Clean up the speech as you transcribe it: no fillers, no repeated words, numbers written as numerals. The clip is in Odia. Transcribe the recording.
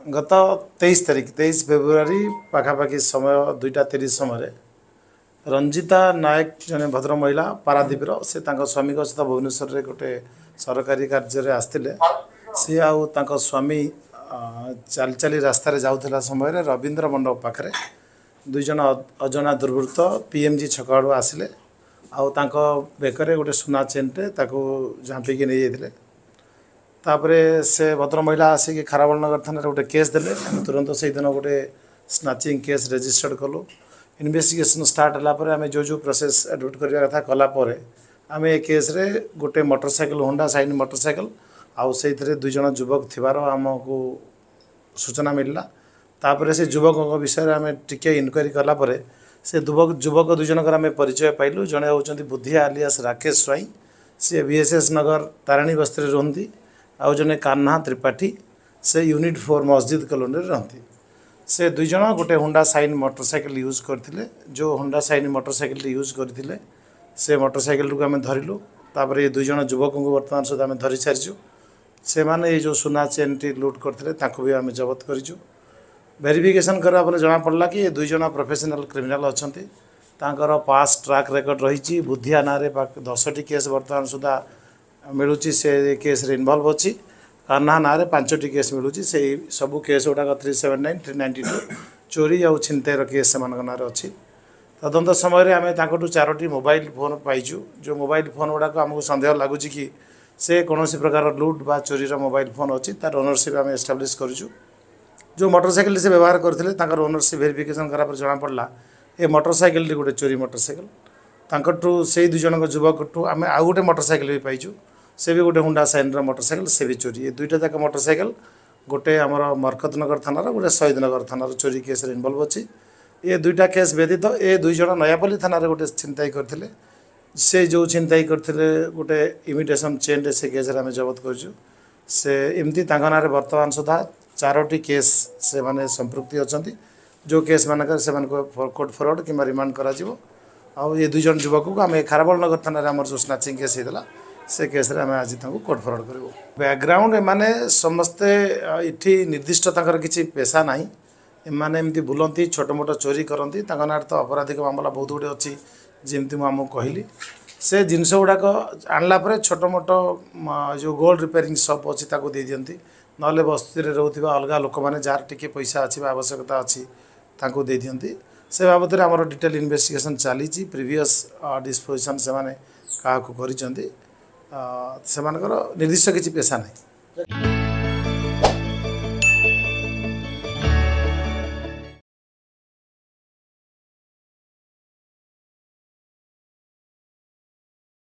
ଗତ 23 ତାରିଖ 23 ଫେବୃଆରୀ ପାଖାପାଖି ସମୟ 2:30 ସମୟରେ ରଞ୍ଜିତା ନାୟକ ଜଣେ ଭଦ୍ର ମହିଳା ପାରାଦ୍ୱୀପର, ସେ ତାଙ୍କ ସ୍ୱାମୀଙ୍କ ସହିତ ଭୁବନେଶ୍ୱରରେ ଗୋଟେ ସରକାରୀ କାର୍ଯ୍ୟରେ ଆସିଥିଲେ। ସିଏ ଆଉ ତାଙ୍କ ସ୍ୱାମୀ ଚାଲି ଚାଲି ରାସ୍ତାରେ ଯାଉଥିଲା ସମୟରେ ରବୀନ୍ଦ୍ର ମଣ୍ଡପ ପାଖରେ ଦୁଇ ଜଣ ଅଜଣା ଦୁର୍ବୃତ୍ତ PMG ଛକ ଆଡ଼ୁ ଆସିଲେ ଆଉ ତାଙ୍କ ବେକରେ ଗୋଟେ ସୁନା ଚେନ୍ଟେ ତାକୁ ଝାମ୍ପିକି ନେଇଯାଇଥିଲେ। ତାପରେ ସେ ଭଦ୍ର ମହିଳା ଆସିକି ଖାରବେଳ ନଗର ଥାନାରେ ଗୋଟେ କେସ୍ ଦେଲେ। ଆମେ ତୁରନ୍ତ ସେଇଦିନ ଗୋଟେ ସ୍ନାଚିଂ କେସ୍ ରେଜିଷ୍ଟର୍ଡ଼ କଲୁ। ଇନଭେଷ୍ଟିଗେସନ୍ ଷ୍ଟାର୍ଟ ହେଲା ପରେ ଆମେ ଯେଉଁ ଯେଉଁ ପ୍ରୋସେସ୍ ଆଡ଼ପ୍ଟ କରିବା କଥା କଲା ପରେ ଆମେ ଏ କେସ୍ରେ ଗୋଟେ ମୋଟରସାଇକେଲ, ହୋଣ୍ଡା ସାଇନ୍ ମୋଟରସାଇକେଲ ଆଉ ସେଇଥିରେ ଦୁଇ ଜଣ ଯୁବକ ଥିବାର ଆମକୁ ସୂଚନା ମିଳିଲା। ତାପରେ ସେ ଯୁବକଙ୍କ ବିଷୟରେ ଆମେ ଟିକେ ଇନକ୍ୱାରି କଲା ପରେ ସେ ଯୁବକ ଦୁଇ ଜଣଙ୍କର ଆମେ ପରିଚୟ ପାଇଲୁ। ଜଣେ ହେଉଛନ୍ତି ବୁଦ୍ଧିଆ ଆଲିଆସ୍ ରାକେଶ ସ୍ୱାଇଁ, ସିଏ BSS ନଗର ତାରିଣୀ ବସ୍ତିରେ ରୁହନ୍ତି, ଆଉ ଜଣେ କାହ୍ନା ତ୍ରିପାଠୀ, ସେ ୟୁନିଟ୍ 4 ମସଜିଦ୍ କଲୋନୀରେ ରହନ୍ତି। ସେ ଦୁଇ ଜଣ ଗୋଟେ ହୋଣ୍ଡା ସାଇନ୍ ମୋଟରସାଇକେଲ ୟୁଜ୍ କରିଥିଲେ। ଯେଉଁ ହୋଣ୍ଡା ସାଇନ୍ ମୋଟରସାଇକେଲଟି ୟୁଜ୍ କରିଥିଲେ ସେ ମୋଟରସାଇକେଲଟିକୁ ଆମେ ଧରିଲୁ। ତାପରେ ଏ ଦୁଇ ଜଣ ଯୁବକଙ୍କୁ ବର୍ତ୍ତମାନ ସୁଦ୍ଧା ଆମେ ଧରି ସାରିଛୁ। ସେମାନେ ଏଇ ଯେଉଁ ସୁନା ଚେନ୍ଟି ଲୁଟ୍ କରିଥିଲେ ତାଙ୍କୁ ବି ଆମେ ଜବତ କରିଛୁ। ଭେରିଫିକେସନ୍ କରିବା ପରେ ଜଣାପଡ଼ିଲା କି ଏ ଦୁଇ ଜଣ ପ୍ରଫେସନାଲ୍ କ୍ରିମିନାଲ୍ ଅଛନ୍ତି। ତାଙ୍କର ପାସ୍ ଟ୍ରାକ୍ ରେକର୍ଡ଼ ରହିଛି। ବୁଦ୍ଧିଆ ନାଁରେ 10ଟି କେସ୍ ବର୍ତ୍ତମାନ ସୁଦ୍ଧା ମିଳୁଛି, ସେ କେସ୍ରେ ଇନଭଲ୍ଭ ଅଛି। କାହ୍ନା ନାଁରେ 5ଟି କେସ୍ ମିଳୁଛି। ସେଇ ସବୁ କେସ୍ ଗୁଡ଼ାକ 379, 392 ଚୋରି ଆଉ ଛିନତାଇର କେସ୍ ସେମାନଙ୍କ ନାଁରେ ଅଛି। ତଦନ୍ତ ସମୟରେ ଆମେ ତାଙ୍କଠୁ 4ଟି ମୋବାଇଲ ଫୋନ୍ ପାଇଛୁ। ଯେଉଁ ମୋବାଇଲ ଫୋନ୍ ଗୁଡ଼ାକ ଆମକୁ ସନ୍ଦେହ ଲାଗୁଛି କି ସେ କୌଣସି ପ୍ରକାର ଲୁଟ୍ ବା ଚୋରିର ମୋବାଇଲ ଫୋନ୍ ଅଛି, ତାର ଓନରସିପ୍ ଆମେ ଏଷ୍ଟାବ୍ଲିଶ୍ କରିଛୁ। ଯେଉଁ ମୋଟରସାଇକେଲଟି ସେ ବ୍ୟବହାର କରିଥିଲେ ତାଙ୍କର ଓନରସିପ୍ ଭେରିଫିକେସନ୍ କଲା ପରେ ଜଣାପଡ଼ିଲା ଏ ମୋଟରସାଇକେଲଟି ଗୋଟେ ଚୋରି ମୋଟରସାଇକେଲ। ତାଙ୍କଠୁ ସେଇ ଦୁଇ ଜଣଙ୍କ ଯୁବକଠୁ ଆମେ ଆଉ ଗୋଟେ ମୋଟରସାଇକେଲ ବି ପାଇଛୁ, ସେ ବି ଗୋଟେ ହୋଣ୍ଡା ସାଇନ୍ର ମୋଟରସାଇକେଲ, ସେ ବି ଚୋରି। ଏ ଦୁଇଟା ଯାକ ମୋଟରସାଇକେଲ ଗୋଟେ ଆମର ମରକତନଗର ଥାନାର, ଗୋଟେ ଶହୀଦନଗର ଥାନାର ଚୋରି କେସ୍ରେ ଇନଭଲ୍ଭ ଅଛି। ଏ ଦୁଇଟା କେସ୍ ବ୍ୟତୀତ ଏ ଦୁଇ ଜଣ ନୟାପଲ୍ଲୀ ଥାନାରେ ଗୋଟେ ଛିନତାଇ କରିଥିଲେ। ସେ ଯେଉଁ ଛିନତାଇ କରିଥିଲେ ଗୋଟେ ଇମିଟେସନ୍ ଚେନ୍ରେ, ସେ କେସ୍ରେ ଆମେ ଜବତ କରିଛୁ। ସେ ଏମିତି ତାଙ୍କ ନାଁରେ ବର୍ତ୍ତମାନ ସୁଦ୍ଧା 4ଟି କେସ୍ ସେମାନେ ସମ୍ପୃକ୍ତି ଅଛନ୍ତି, ଯେଉଁ କେସ୍ ମାନଙ୍କରେ ସେମାନଙ୍କୁ କୋର୍ଟ ଫରୱାର୍ଡ଼ କିମ୍ବା ରିମାଣ୍ଡ କରାଯିବ। ଆଉ ଏ ଦୁଇ ଜଣ ଯୁବକକୁ ଆମେ ଖାରବେଳ ନଗର ଥାନାରେ ଆମର ଯେଉଁ ସ୍ନାଚିଂ କେସ୍ ହେଇଥିଲା ସେ କେସ୍ରେ ଆମେ ଆଜି ତାଙ୍କୁ କୋର୍ଟ ଫରୱାର୍ଡ଼ କରିବୁ। ବ୍ୟାକଗ୍ରାଉଣ୍ଡ ଏମାନେ ସମସ୍ତେ ଏଠି ନିର୍ଦ୍ଦିଷ୍ଟ ତାଙ୍କର କିଛି ପେସା ନାହିଁ। ଏମାନେ ଏମିତି ବୁଲନ୍ତି, ଛୋଟ ମୋଟ ଚୋରି କରନ୍ତି। ତାଙ୍କ ନାଁରେ ତ ଅପରାଧିକ ମାମଲା ବହୁତ ଗୁଡ଼ିଏ ଅଛି, ଯେମିତି ମୁଁ ଆମକୁ କହିଲି। ସେ ଜିନିଷ ଗୁଡ଼ାକ ଆଣିଲା ପରେ ଛୋଟ ମୋଟ ଯେଉଁ ଗୋଲ୍ଡ ରିପେୟାରିଂ ସପ୍ ଅଛି ତାକୁ ଦେଇଦିଅନ୍ତି, ନହେଲେ ବସ୍ତିରେ ରହୁଥିବା ଅଲଗା ଲୋକମାନେ ଯାହାର ଟିକେ ପଇସା ଅଛି ବା ଆବଶ୍ୟକତା ଅଛି ତାଙ୍କୁ ଦେଇଦିଅନ୍ତି। ସେ ବାବଦରେ ଆମର ଡିଟେଲ୍ ଇନଭେଷ୍ଟିଗେସନ୍ ଚାଲିଛି। ପ୍ରିଭିୟସ୍ ଡିସ୍ପୋଜିସନ୍ ସେମାନେ କାହାକୁ କରିଛନ୍ତି, ସେମାନଙ୍କର ନିର୍ଦ୍ଦିଷ୍ଟ କିଛି ପେସା ନାହିଁ।